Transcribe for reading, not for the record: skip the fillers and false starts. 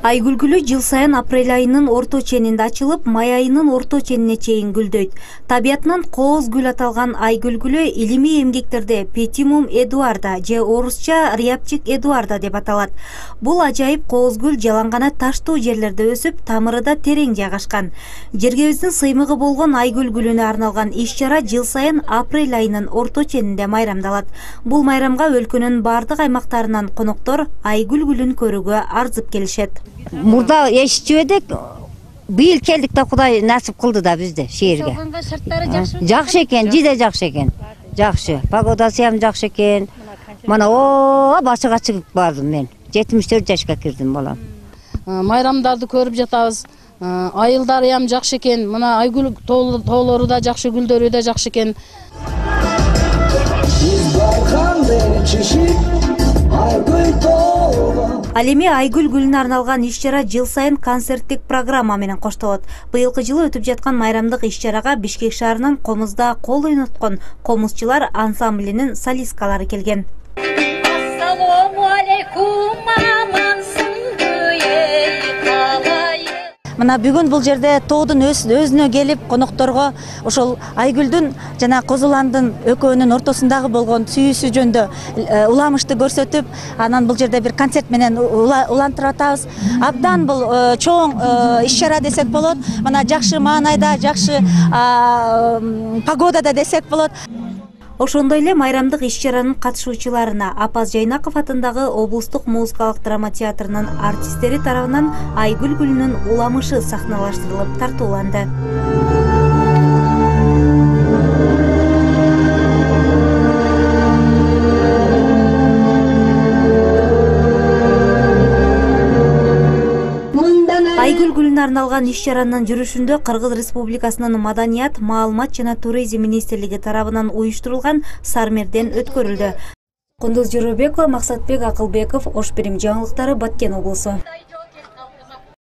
Айгүл жыл сайын апрель айынын орто ченинде ачылып, май айынын орто ченине чейин гүлдөйт. Табиятынан кооз гүл аталган айгүл илимий эмгектерде Петимум Эдуарда же орусча Рябчик Эдуарда деп аталат. Бул ажайып кооз гүл жалаңгана таштуу жерлерде өсүп, тамыры да терең жайгашкан. Жергебиздин сыймыгы болгон айгүл гүлүнө арналган иш-чара жыл сайын апрель айынын орто ченинде майрамдалат. Бул майрамга өлкөнүн бардык аймактарынан коноктор айгүл гүлүн көрүүгө арзып келишет. Мурда эшитчү эдик, быйыл келдик да Кудай насип кылды да бизди шээрге. Жакшы экен, жиде жакшы экен. Жакшы, погодасы ham жакшы экен. Мана башыга чыгып бардым мен. 74 жашка кирдим балам. Майрамдарды көрүп жатабыз. Айылдары ham жакшы экен. Мына айгүл тоолору да жакшы, гүлдөрү да жакшы экен. Ал эми айгүл гүлүнө арналган иш-чара жыл сайын концерттик программа менен коштолот. Быйылкы жылы өтүп жаткан майрамдык иш-чарага Бишкек шаарынын Комузда кол ойноткон комузчулар ансамблинин солисткалары келген. Ассалому алейкум, Мына бүгүн бул жерде тоодун өзүнө келип, конокторго ошол айгүлдүн жана Козуландын экөөнүн ортосундагы болгон сүйүүсү жөнүндө уламышты көрсөтүп, анан бул жерде бир концерт менен улантырып атабыз. Абдан бул чоң иш-чара десек болот. Мына жакшы маанайда, жакшы погодада десек болот. Ошондой эле майрамдык иш-чаранын катышуучуларына Апаз Жайнаков атындагы облустук музыкалык драма театрынын артисттери тарабынан айгүл гүлүнүн уламышы сахналаштырылып тартууланды. Айгүл гүлүнө арналган иш-чаранын жүрүшүндө Кыргыз Республикасынын Маданият, Маалымат жана туризм министрлиги тарабынан уюштурулган сармерден өткөрүлдү. Кундуз Жоробекова, Максатбек Акылбеков, Ош Бирим жаңылыктары, Баткен облусу.